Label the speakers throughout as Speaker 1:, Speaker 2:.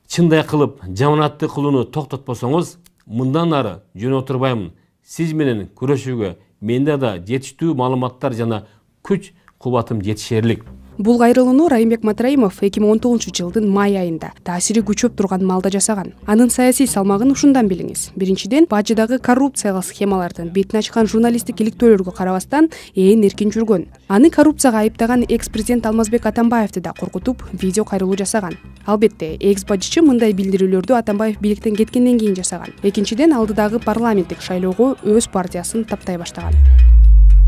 Speaker 1: чындай кылып жаманатты кылууну токтотпосоңуз, мындан ары жөн отурбаймын. Сиз менен күрөшүүгө менде да жетиштүү маалыматтар жана күч кубатым жетишерлик.
Speaker 2: Бул кайрылууну Райымбек Матраимов 2019-жылдын май айында таасири күчөп турган маалда жасаган. Анын саясий салмагын ушундан билиңиз. Биринчиден, бажыдагы коррупциялык схемалардын бетин ачкан журналисттик иликтөөлөргө карабастан ээн эркин жүргөн. Аны коррупцияга айыптаган экс-президент Алмазбек Атамбаевди да коркутуп, видео кайрылуу жасаган. Албетте, экс-бажычы мындай билдирүүлөрдү Атамбаев бийликтен кеткенден кийин жасаган. Экинчиден, алдыдагы парламенттик шайлоого өз партиясын таптай баштаган.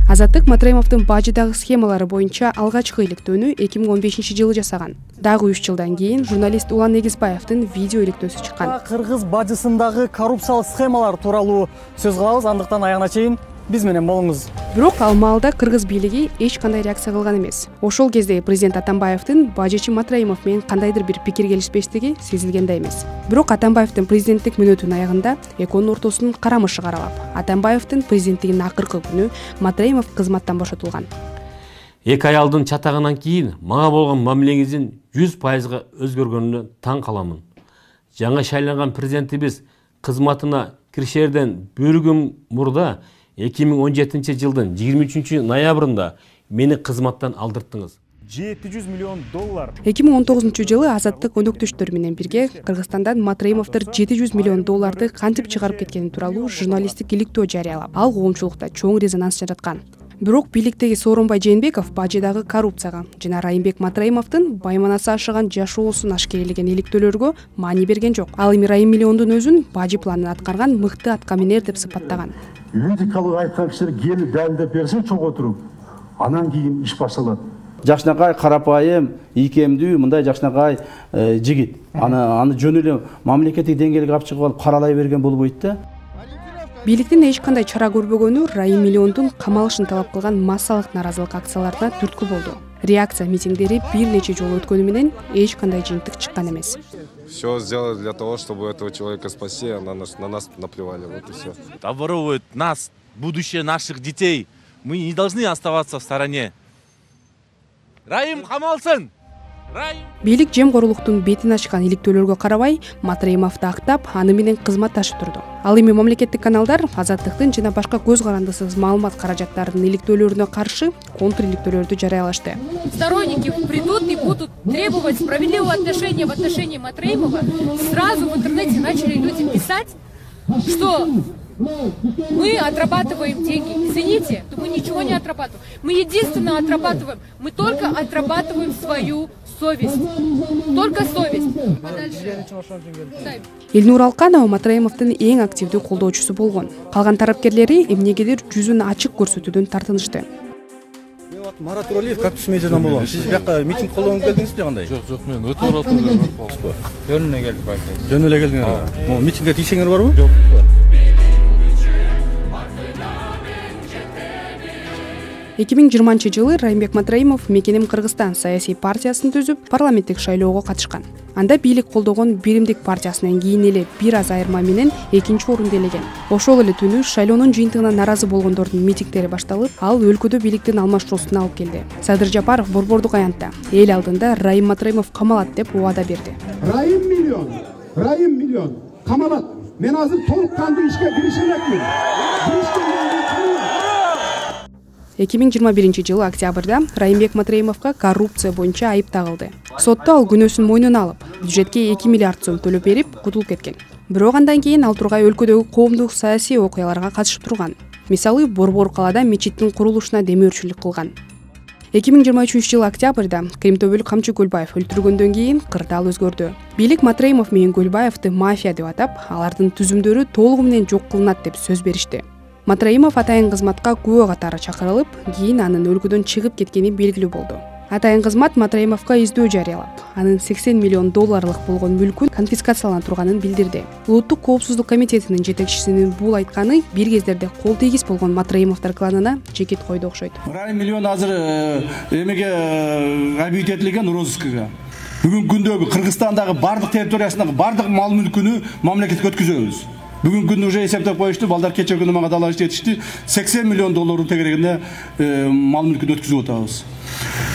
Speaker 2: Азаттык Матраимовдун бажыдагы схемалары боюнча алгачкы иликтөөнү 2015-жылы жасаган. Дагы 3 жылдан кийин журналист Улан Эгизбаевдин видео иликтөөсү чыккан.
Speaker 3: Кыргыз бажысындагы коррупциялык схемалар тууралуу сөз кылабыз, андыктан аягына чейин биз менен болуңуз.
Speaker 2: Бирок ал маалда кыргыз бийлиги эч кандай реакция кылган эмес. Ошол кезде президент Атамбаевдин бажычы Матраимов менен кандайдыр бир пикир келишпештиги сезилген да эмес. Бирок Атамбаевдин президенттик мүнөтүнүн аягында экөөнүн ортосунун карамышы каралап, Атамбаевдин президенттигинин акыркы күнү Матраимов кызматтан бошотулган.
Speaker 1: 2 аялдын чатагынан кийин мага болгон мамилеңиздин 100% өзгөргөнүнө таң каламын. Жаңа шайланган президентибиз кызматына киришерден bir күн мурда 2017 жылдын 23 ноябрында мени кызматтан алдырттыңыз.
Speaker 3: 700 миллион доллар.
Speaker 2: 2019 жылы Азаттык өнөктөштөр менен бирге Кыргызстандан Матраимовдор 700 миллион долларды кантип чыгарып кеткени тууралуу журналисттик иликтөө жарыялап, ал коомчулукта чоң резонанс жараткан. Бирок бийликтеги Сооронбай Жээнбеков бажыдагы коррупцияга жана Райымбек Матраимовдун байманасы ашыган жашоосун ашкерелеген иликтөөлөргө маани берген жок. Ал эми Райым миллиондун өзүн бажы планын аткарган мыкты аткаминер деп сыпаттаган.
Speaker 4: Юридикалык айткан кишилер келип далилдеп берсе чогуу туруп, анан кийин иш башталат.
Speaker 5: Жакшынакай карапайым, ийкемдүү, мындай жакшынакай жигит. Аны жөн эле мамлекеттик деңгээлге алып чыгып алып каралай берген болбойт да.
Speaker 2: Бийликтин эч кандай чара көрбөгөнү Райым миллиондун камалышын талап кылган массалык наразылык акцияларына түрткү болду. Реакция митингдери бир нече жолу өткөнү менен эч кандай жыйынтык чыккан эмес.
Speaker 6: Все сделали для того, чтобы этого человека спасти, а на нас наплевали, вот и все.
Speaker 7: Обворовывают нас, будущее наших детей. Мы не должны оставаться в стороне. Райым камалсын!
Speaker 2: Бийлик жемкорлуктун бетин ачкан иликтөөлөргө карабай, Матраимовду актап, аны менен кызматташып турду. Ал эми мамлекеттик каналдар Азаттыктын жана башка көз карандысыз маалымат каражаттарынын иликтөөлөрүнө каршы контр иликтөөлөрдү жарыялашты.
Speaker 8: Сторонники придут и будут требовать справедливого отношения в отношении Матраимова. Сразу в интернете начали люди писать, что мы отрабатываем деньги. Извините, но мы ничего не отрабатываем. Мы единственное отрабатываем. Мы только отрабатываем свою совесть. Только совесть.
Speaker 2: Элнур Алканова Матраимовдун эң активдүү колдоочусу болгон. Калган тарапкерлери эмнегедир жүзүн ачык көрсөтүүдөн тартынышты.
Speaker 9: Марат Туралиев кактус медиадан болом. Сиз бияка митинг колдонуп келдиңизби кандай?
Speaker 6: Жок, мен өтө баратырмын.
Speaker 9: Жөн эле келдик байке. Жөн эле келдиңер. Могу митингге тийсеңер барбы?
Speaker 6: Жок.
Speaker 2: 2020 жылы Райымбек Матраимов Мекеним Кыргызстан саясий партиясын түзүп, парламенттик шайлоого катышкан. Анда бийлик колдогон Биримдик партиясынан кийин эле бир аз айырма менен экинчи орунду ээлеген. Ошол эле түнү шайлоонун жыйынтыгына наразы болгондордун митингдери башталып, ал өлкөдө бийликтин алмашуусуна алып келди. Садыр Жапаров Борбордук аянтта эл алдында Райым Матраимов камалат деп убада берди.
Speaker 10: Райым миллион камалат. Мен азыр толук кандуу ишке киришем экен.
Speaker 2: 2021 жылы октябрда Райымбек Матраимовго коррупция боюнча айып тагылды. Сотто ал күнөөсүн мойнуна алып, бюджетке 2 миллиард сом төлөп берип, кутулуп кеткен. Бирок андан кийин ал тургай өлкөдөгү коомдук саясий окуяларга катышып турган. Мисалы, Борбор калаада мечиттин курулушуна демөөрчүлүк кылган. 2023 жылы октябрда Кримтөбөлүк Камчы Көлбаев өлтүргөндөн кийин кырдаал өзгөрдү. Бийлик Матраимов менен Көлбаевди мафия деп атап, алардын түзүмдөрү толугу менен жок кылынат деп сөз беришти. Матраимов атайын кызматка күбө катары чакырылып, кийин анын өлкөдөн чыгып кеткени белгилүү болду. Атайын кызмат Матраимовго издөө жарыялап, анын 80 миллион долларлык болгон мүлкүн конфискациялана турганын билдирди. Улуттук коопсуздук комитетинин жетекчисинин бул айтканы бир кездерде кол тийгиз болгон Матраимовдор кланына жекит койду окшойт.
Speaker 5: Райым миллион азыр эмеге объект этилген розыскага. Бүгүнкү күндө Кыргызстандагы бардык территориясындагы бардык мал мүлкүнү мамлекетке өткөзөбүз. Бүгүнкү күндө уже эсептеп коюшту, балдар кече күнү мага далаш жетишти. 80 миллион долларга тегерегинде мал мүлкүн өткөзүп атабыз.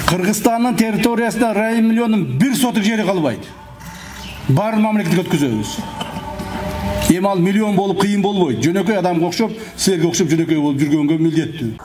Speaker 5: Кыргызстандын территориясында Райым миллиондун бир сотук жери калбайт. баарын мамлекетке өткөзөбүз. Эми ал миллион болуп кыйын болбойт. Жөнөкөй адамга окшоп, силерге окшоп жөнөкөй болуп жүргөнгө милдеттүү.